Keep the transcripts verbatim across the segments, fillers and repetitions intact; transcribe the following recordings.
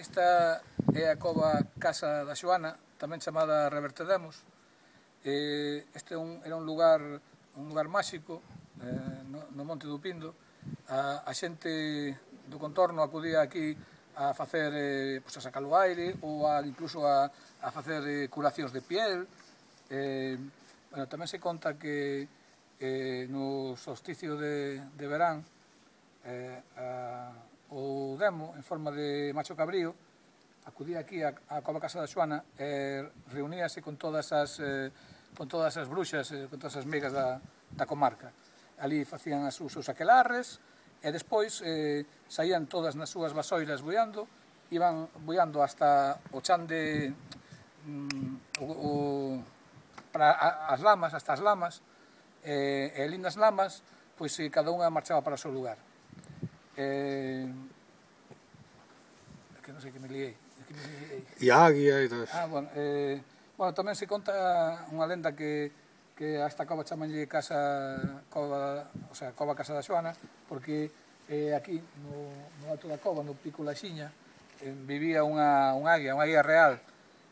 Esta é a cova Casa da Xoana, tamén chamada Revertedemos. Este era un lugar un lugar máxico no Monte do Pindo. A xente do contorno acudía aquí a facer, a sacar o aire ou incluso a facer curacións de piel. Tamén se conta que no solsticio de verán o demo, en forma de macho cabrío, acudía aquí á cova Casa da Xoana e reuníase con todas as con todas as bruxas, con todas as megas da comarca. Ali facían os seus aquelarres e despois saían todas nas súas vasoiras buiando, iban buiando hasta o chan de as lamas, hasta as lamas, e ali nas lamas cada unha marchaba para o seu lugar. Que non sei que me liei. E a águia e todo. Ah, bueno, tamén se conta unha lenda que a esta cova chamanlle Casa Cova, o sea, Cova Casa da Xoana, porque aquí, no alto da cova, no pico Laxiña, vivía unha águia, unha águia real,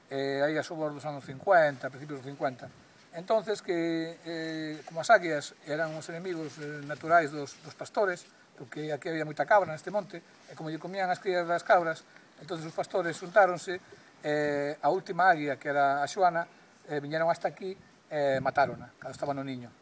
aí a sobre dos anos cincuenta, principios dos cincuenta. Entonces, como as águias eran os enemigos naturais dos pastores, porque aquí había moita cabra neste monte, e como lle comían as crías das cabras, entón os pastores xuntáronse, a última águia, que era a Xoana, viñeron hasta aquí e matárona, cando estaba no niño.